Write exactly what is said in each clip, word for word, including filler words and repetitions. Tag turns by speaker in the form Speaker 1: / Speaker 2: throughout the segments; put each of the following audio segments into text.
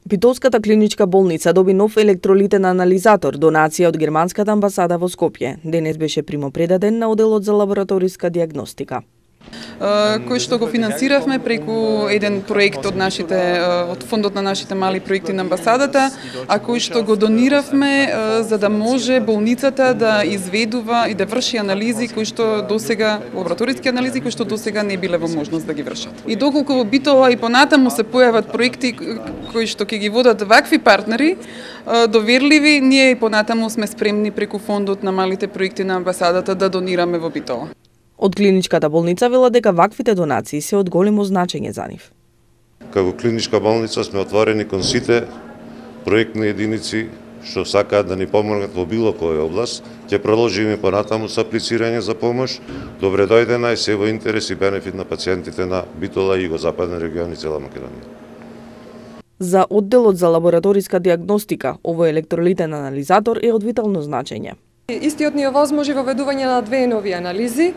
Speaker 1: Битолската клиничка болница доби нов електролитен анализатор, донација од германската амбасада во Скопје. Денес беше примопредаден на оделот за лабораториска диагностика,
Speaker 2: кој што го финансиравме преку еден проект од нашите од фондот на нашите мали проекти на амбасадата, а кој што го дониравме за да може болницата да изведува и да врши анализи кои што досега лабораториски анализи кои што досега не биле во можност да ги вршат. И доколку во Битола и понатаму се појават проекти кои што ќе ги водат вакви партнери доверливи, ние и понатаму сме спремни преку фондот на малите проекти на амбасадата да донираме во Битола.
Speaker 1: Од клиничката болница велат дека ваквите донации се од големо значење за нив.
Speaker 3: Како клиничка болница сме отворени кон сите проектни единици што сакаат да ни помогнат во било која област. Ќе продолжиме понатаму со аплицирање за помош. Добре дојдена и се во интерес и бенефит на пациентите на Битола и југозападен регион и цела Македонија.
Speaker 1: За одделот за лабораториска диагностика, овој електролитен анализатор е од витално значење.
Speaker 4: Истиот ни овозможи воведување на две нови анализи,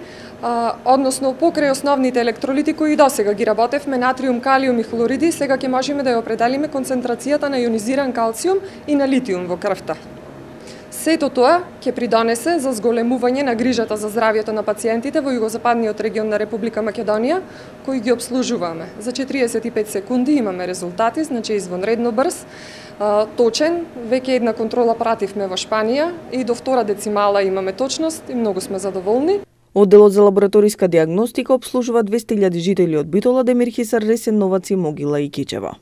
Speaker 4: а, односно покрај основните електролити кои и досега ги работевме, натриум, калиум и хлориди, сега ќе можеме да ја определиме концентрацијата на ионизиран калциум и на литиум во крвта. Сето тоа ќе придонесе за зголемување на грижата за здравјето на пациентите во југозападниот регион на Република Македонија, кои ги обслужуваме. За четириесет и пет секунди имаме резултати, значи извонредно брз, точен, веќе една контрола пративме во Шпанија и до втора децимала имаме точност и многу сме задоволни.
Speaker 1: Одделот за лабораториска диагностика обслужува двесте илјади жители од Битола, Демирхисар, Ресен, Новац и Могила и Кичево.